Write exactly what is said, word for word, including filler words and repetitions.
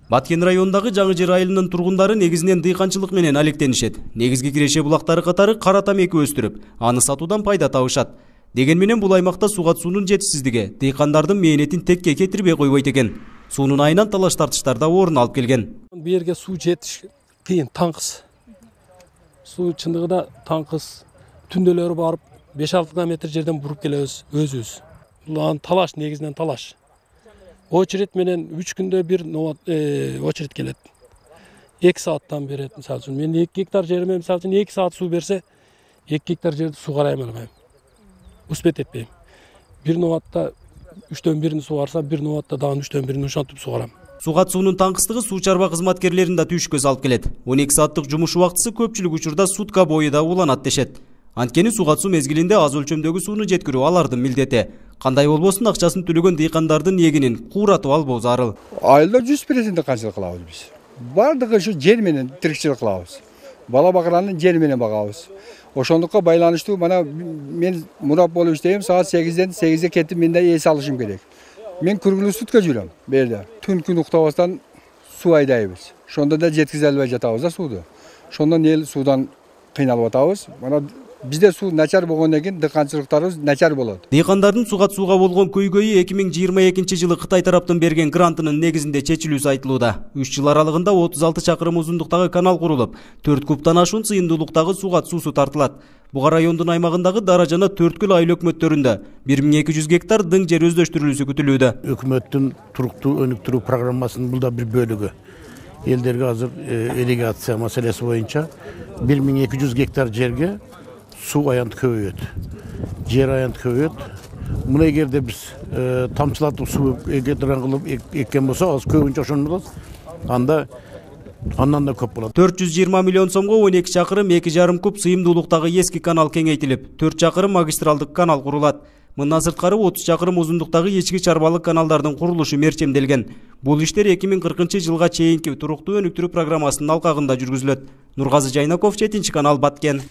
Баткен районундагы Жаңы Жер айылынын тургундары негизинен дыйканчылык менен алектенишет. Негизги киреше булактары катары кара тамеки өстүрүп, аны сатуудан пайда табышат. Деген менен бул аймакта сууга суунун жетишсиздиги дыйкандардын мээнетин текке кетирбей койбойт экен. Суунун айынан талаш тартыштар да орун алып келген. Бу жерге суу жетиш кыйын, таңкыс. Суу чындыгында таңкыс. Түндөлөрү барып беш алты километр жерден буруп келебиз өзүбүз. Бул талаш, негизинен талаш. Очередь менен үч күндө бир очередь келет. эки сааттан берет, мисалы үчүн. Мен эки гектар жериме мисалы үчүн эки саат суу берсе, эки гектар жерди сууга алмайм. Успеть этпейм. Бир нобатта үчтөн бирин сугарса, бир нобатта дагы үчтөн бирин ушантып сугарам. Суга суунун таңкыстыгы суу чарба кызматкерлерин да түйшүккө салып келет. он эки сааттык жумуш убактысы көпчүлүк учурда сутка бою да уланат дешет. Анткени суга суу мезгилинде аз өлчөмдөгү сууну жеткирүү алардын милдети. Кандай болбосун акчасын төлөгөн дыйкандардын эгинин кууратып албоо зарыл. Айылда жүз процент канчылык кылабыз биз. Бардыгы ушу жер менен тирикчилик кылабыз. Бала бакыранын жери менен багабыз. Ошондукка байланыштуу мана мен мурап болуп иштейм, саат сегизден сегизге кетип менде эс алышым керек. Мен күргүлүү сутка жүрөм бу жерде. Түн күн уктабастан суу айдайбыз. Ошондо да жеткизе албай жатабыз да сууду. Ошондон эл суудан кыйналып атабыз. Мана бизде суу начар болгондон кийин дыйканчылыктарыбыз начар болот. Дыйкандардын суга сууга болгон көйгөйү эки миң жыйырма экинчи жылы Кытай тараптан берген грантынын негизинде чечилүүсү айтылууда. үч жыл аралыгында отуз алты чакырым узундуктагы канал курулуп, төрт кубтан ашуун сыйымдуулуктагы сууга суусу тартылат. Буга райондун аймагындагы Дара жана Төрткүл айыл өкмөттөрүндө бир миң эки жүз гектар дың жер өздөштүрүлүүсү күтүлүүдө. Өкмөттүн туруктуу өнүктүрүү программасынын бул да бир бөлүгү. Элдерге азыр ирригация маселеси боюнча бир миң эки жүз гектар жерге суу аянты көбөйөт. Жер аянты көбөйөт. Муну эгерде биз тамчылатып суу экедирен кылып эккен болсо, аз көбүнчө ошону болот. Анда андан да көп болот. төрт жүз жыйырма миллион сомго он эки чакырым эки жарым куб сыйымдуулуктагы эски канал кеңейтилип, төрт чакырым магистралдык канал курулат. Мындан сырткары отуз чакырым узундуктагы ички чарбалык каналдардын курулушу мерчемделген. Бул иштер эки миң кыркынчы жылга чейинки туруктуу өнүктүрүү программасынын алкагында жүргүзүлөт. Нургазы Жайнаков, жетинчи канал, Баткен.